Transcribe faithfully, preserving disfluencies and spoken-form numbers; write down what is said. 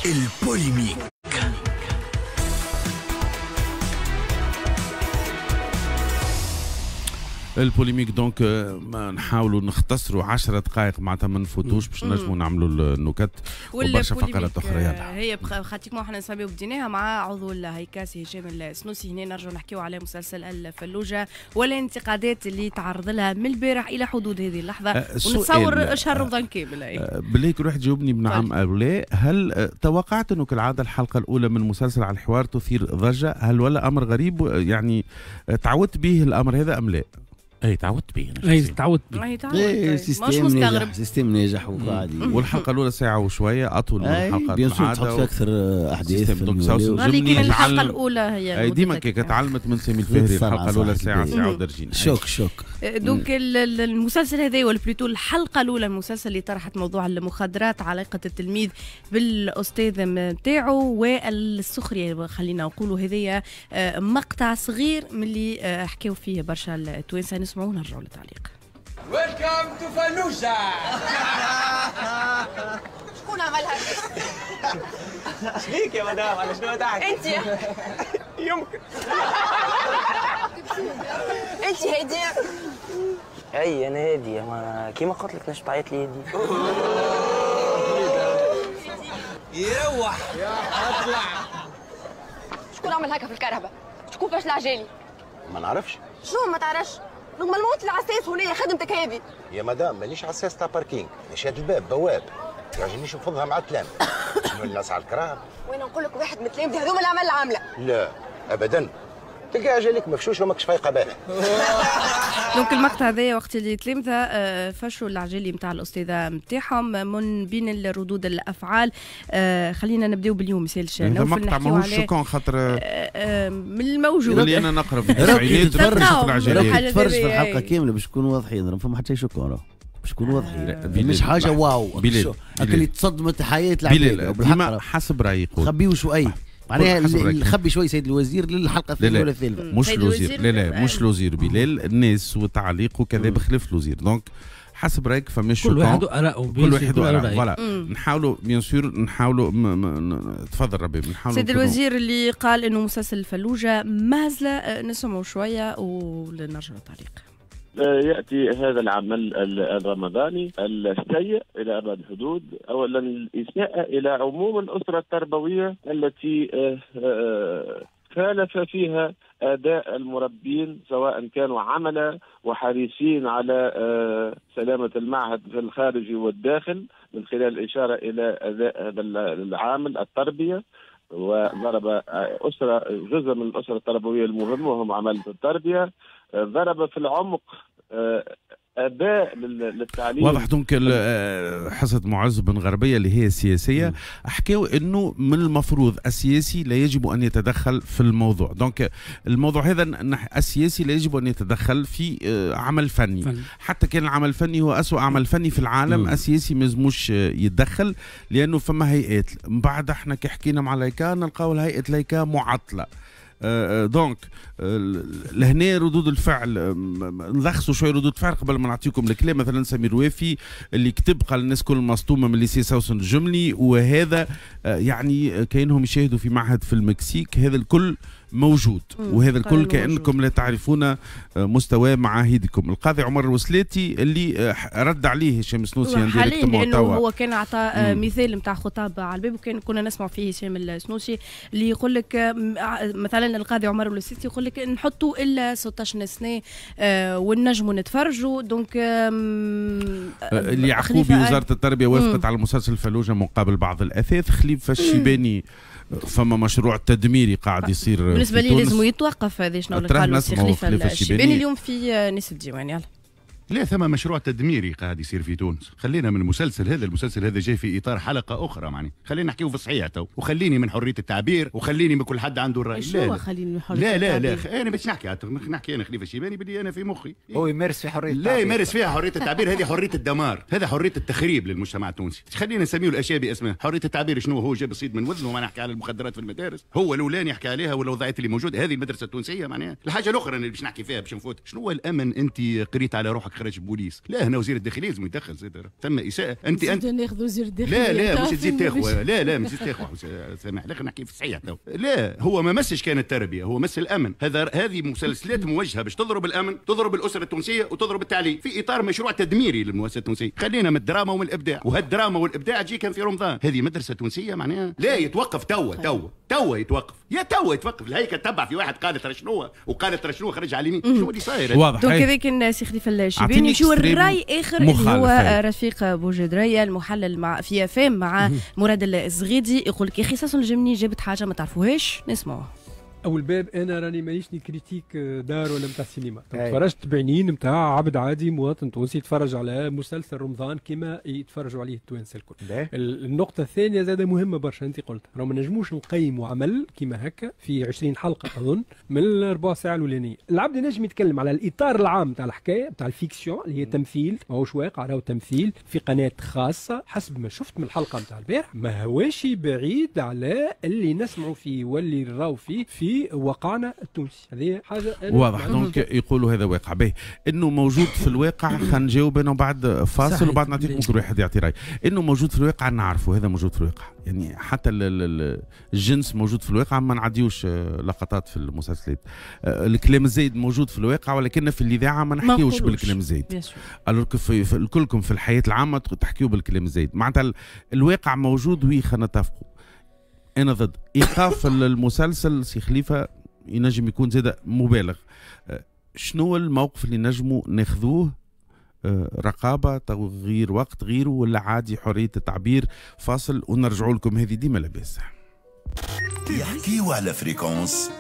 ال polémique. ال polémique donc ما نحاولوا نختصروا عشرة دقائق معناتها ما نفوتوش باش نجموا نعملوا النكت وبرشا فقرات اخرى. يلا هي pratiquement احنا نسميو بديناها مع عضو الهيكاس هشام السنوسي. هنا نرجعوا نحكيو على مسلسل الفلوجه والانتقادات اللي تعرض لها من البارح الى حدود هذه اللحظة، ونتصور شهر رمضان كامل. بالله كل واحد جاوبني بنعم او لا، هل توقعت انه كالعادة الحلقة الاولى من مسلسل على الحوار تثير ضجه؟ هل ولا امر غريب يعني تعودت به الامر هذا ام لا؟ اي تعودت به انا. اي تعودت به. اي تعودت. système ناجح، système ناجح وقاعد. والحلقة الاولى ساعة وشوية اطول من الحلقة bien sûr، تحط فيها اكثر احداث. لكن الحلقة الاولى هي ديما كي تعلمت من سامي الفهري الحلقة الاولى ساعة ساعة ودرجين. choc choc. donc المسلسل هذا ولا plutôt الحلقة الاولى المسلسل اللي طرحت موضوع المخدرات، علاقة التلميذ بالاستاذ نتاعو والسخرية، خلينا نقولوا هذايا مقطع صغير من اللي حكاو فيه برشا التوانسة. نسمعوا ونرجعوا للتعليق. Welcome to فلوجة. شكون عملها؟ شبيك يا مدام، على شنو تحكي؟ انت يمكن انت هادية. اي انا هادية، ما كيما قلت لك نجم تعيط لي هادي. يروح اطلع. شكون عمل هكا في الكهرباء؟ شكون فاش العجالي؟ ما نعرفش. شنو ما تعرفش؟ normalement العساس هنا خدمتك هذه. يا مدام مانيش عساس تاع parking، نشاد الباب بواب، يعجبنيش نفضها مع التلامذة. شنو الناس على الكراب؟ وانا نقول لك واحد من التلامذة هذوما اللي عمل العاملة. لا ابدا، تلقى عجلك مفشوش وماكش فايقه بالها. donc المقطع هذايا وقت اللي تلامذه فشوا العجالي نتاع الاستاذة نتاعهم من بين الردود الافعال. خلينا نبداو باليوم مثال نوفل مقطع ماهوش choquant خاطر من الموجود اللي انا نقرا في التسعينات تفرج تفرج في الحلقة كاملة باش نكونوا واضحين، ما فما حتى شيء choquant باش نكونوا واضحين، مش حاجة واو اللي تصدمت حياة العباد. ديما حسب رايي خبيو شوي معناها خبي شوي سيد الوزير للحلقة الثانية ولا الثالثة. مش الوزير، لا لا مش الوزير بلال، الناس وتعليق وكذا بخلاف الوزير. donc حسب رايك فماش كل واحد اراءه، كل واحد اراءه voilà. نحاولوا bien sûr نحاولوا تفضل ربي نحاولوا. سيد الوزير اللي قال انه مسلسل الفلوجه مهزله، نسمعوا شوية ونرجعوا للتعليق. يأتي هذا العمل الرمضاني السيء إلى أبعد الحدود. أولا الإساءة إلى عموم الأسرة التربوية التي خالف فيها أداء المربين سواء كانوا عملا وحريصين على سلامة المعهد في الخارج والداخل من خلال الإشارة إلى أداء هذا العامل التربية، وضرب أسرة جزء من الأسرة التربوية المهم وهم عمالة التربية، ضرب في العمق اباء للتعليم. واضح donc حصة معز بن غربية اللي هي السياسية حكاو انه من المفروض السياسي لا يجب ان يتدخل في الموضوع. donc الموضوع هذا السياسي لا يجب ان يتدخل في عمل فني، فن. حتى كان العمل الفني هو اسوء عمل فني في العالم، السياسي ما لازموش يتدخل لانه فما هيئات. من بعد احنا كي حكينا مع لايكا نلقاو الهيئة لايكا معطلة. donc لهنا ردود الفعل نلخصوا شوية ردود الفعل قبل ما نعطيكم الكلام. مثلا سمير وافي اللي كتب قال الناس كل مصدومة من lycée سوسن الجملي، وهذا يعني كانهم يشاهدوا في معهد في المكسيك. هذا الكل موجود وهذا الكل كأنكم لا تعرفون مستوى معاهدكم. القاضي عمر الوسلاتي اللي رد عليه هشام السنوسي حاليا لانه هو كان اعطى مثال نتاع خطاب على الباب وكان كنا نسمع فيه هشام السنوسي اللي يقول لك مثلا القاضي عمر الوسلاتي يقول لك نحطوا الا ستة عشر سنة ونجموا نتفرجوا. donc اللي يعقوبي وزارة التربية وافقت على مسلسل فلوجه مقابل بعض الاثاث. خليفة الشيباني فما مشروع تدميري قاعد يصير بالنسبة لي لازم يتوقف. هذا شنو اللي قالوا سي خليفة الشيباني اليوم في ناس الديوان. يلا لا ثم مشروع تدميري قاعد يصير في تونس. خلينا من المسلسل هذا، المسلسل هذا جاي في اطار حلقة اخرى معني، خلينا نحكيو في الصحيح تو، وخليني من حرية التعبير وخليني من كل حد عنده الراي. لا خليني من حرية لا لا لا انا باش نحكي نحكي انا خليفة الشيباني باللي انا في مخي. هو يمارس في حرية التعبير. لا يمارس فيها حرية التعبير، هذه حرية الدمار، هذا حرية التخريب للمجتمع التونسي. خلينا نسميه الاشياء باسمها. حرية التعبير شنو هو؟ جاب الصيد من وذنه، ما نحكي على المخدرات في المدارس، هو الاولاني يحكي عليها والوضعيات اللي موجودة هذه المدرسة التونسية معناها. الحاجة الاخرى اللي باش نحكي فيها باش نفوت، شنو هو الامن؟ انت قريت على روحك خرج بوليس. لا هنا وزير الداخلية لازم يدخل زاد، ثم اساءه. انت انت ناخذ وزير الداخلية؟ لا لا مش تزيد تاخذ، لا لا مش تزيد تاخذ، سامح لك نحكي في الصحيح. لا هو ما مسش كان التربية، هو مس الامن. هذا هذه مسلسلات موجهة باش تضرب الامن، تضرب الاسرة التونسية وتضرب التعليم في اطار مشروع تدميري للمؤسسه التونسية. خلينا من الدراما ومن الابداع، وهالدراما والابداع تجي كان في رمضان. هذه مدرسه تونسية معناها لا يتوقف توا توا توا يتوقف، يا توا يتوقف. الهيكل تبع في واحد قالت شنو وقالت شنو خرج على اليمين، شنو اللي صاير؟ واضح. donc هذا كان سي خليفة الشيباني. نمشيو الراي اخر اللي هو رفيق بوجدريه المحلل مع في افام مع مراد الزغيدي، يقول لك يا اخي ساسون الجمني جابت حاجة ما تعرفوهاش، نسمعوها. اول باب انا راني مانيش critique d'art ولا نتاع السينما، تفرجت بعينين نتاع عبد عادي مواطن تونسي يتفرج على مسلسل رمضان كما يتفرجوا عليه التوانسة الكل. النقطة الثانية زاده مهمة برشا، انت قلت راه ما نجموش نقيموا عمل كما هكا في عشرين حلقة اظن من الربع ساعة الاولانية. العبد ينجم يتكلم على الاطار العام تاع الحكاية تاع ال fiction اللي هي تمثيل ماهوش واقع، راهو تمثيل في قناة خاصة. حسب ما شفت من الحلقة نتاع البارح ما هواش بعيد على اللي نسمعوا فيه واللي نراو فيه في واقعنا التونسي. هذه حاجة واضح. donc يقولوا هذا واقع به انه موجود في الواقع. خلينا نجاوب انا بعد فاصل وبعد نعطيكم كل واحد يعطي راي. انه موجود في الواقع نعرفه، هذا موجود في الواقع، يعني حتى الجنس موجود في الواقع، ما نعديوش لقطات في المسلسلات. الكلام الزايد موجود في الواقع، ولكن في الاذاعة ما نحكيوش بالكلام الزايد. alors في كلكم في الحياة العامة تحكيوا بالكلام الزايد، معناتها الواقع موجود. oui خلينا نتفقوا. انا ضد ايقاف المسلسل سي خليفة، ينجم يكون زاد مبالغ. شنو الموقف اللي نجموا ناخذوه؟ رقابه، تغيير وقت، غيره، ولا عادي حرية التعبير؟ فاصل ونرجعوا لكم. هذه ديما لاباس. يحكيوا على fréquence.